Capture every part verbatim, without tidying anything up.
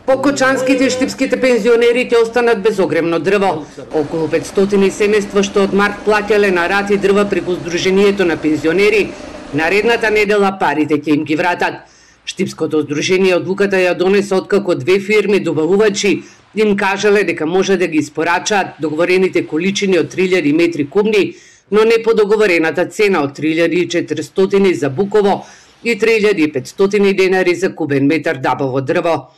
Покочанските и штипските пензионери ќе останат без огремно дрво. Околу петстотини семејства што од март плаќале на рати дрва преку Сдруженијето на пензионери, наредната недела парите ќе им ги вратат. Штипското здружение одлуката ја донесе откако две фирми добавувачи им кажале дека може да ги испорачаат договорените количини од три илјади метри кубни, но не по договорената цена од три илјади и четиристотини за буково и три илјади и петстотини денари за кубен метар дабово дрво.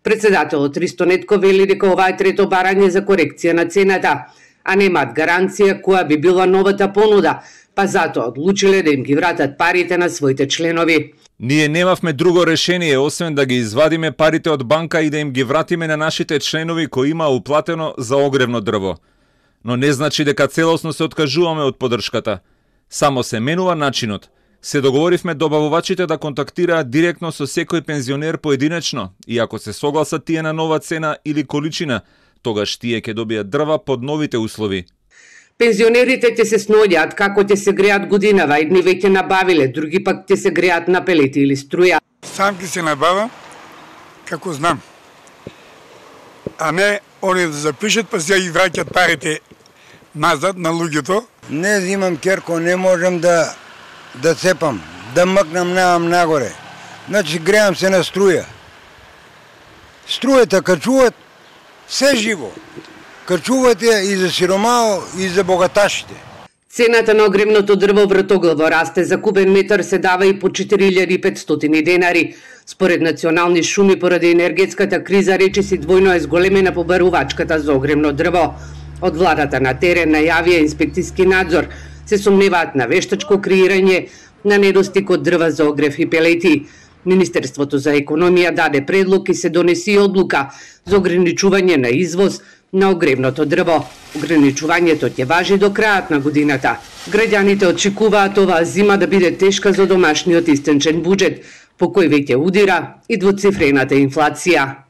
Председателот Ристо Нетко вели дека ова е трето барање за корекција на цената, а немаат гаранција која би била новата понуда, па затоа одлучиле да им ги вратат парите на своите членови. Ние немавме друго решение освен да ги извадиме парите од банка и да им ги вратиме на нашите членови кои има уплатено за огревно дрво. Но не значи дека целосно се откажуваме од поддршката. Само се менува начинот. Се договоривме добавувачите да контактираат директно со секој пензионер поединечно и ако се согласат тие на нова цена или количина, тогаш тие ќе добијат дрва под новите услови. Пензионерите ќе се сноѓаат како ќе се греат годинава, едни веќе набавиле, други пак ќе се греат на пелети или струја. Сам ќе се набава како знам. А не они да запишат па сега и враќат парите назад на луѓето. Не взимам керко, не можам да да цепам, да мъкнам навам нагоре. Значи греам се на струја. Струјата качуваат се живо. Качуваат ја и за сиромао и за богаташите. Цената на огревното дрво вратоглаво расте, за кубен метар се дава и по четири илјади и петстотини денари. Според национални шуми поради енергетската криза речиси двојно е зголемена побарувачката за огревно дрво. Од владата на терен најавија инспекцијски надзор, се сомневаат на вештачко креирање на недостиг од дрва за огрев и пелети. Министерството за економија даде предлог и се донеси одлука за ограничување на извоз на огревното дрво. Ограничувањето ќе важи до крајот на годината. Граѓаните очекуваат оваа зима да биде тешка за домашниот истенчен буџет, по кој веќе удира и двоцифрената инфлација.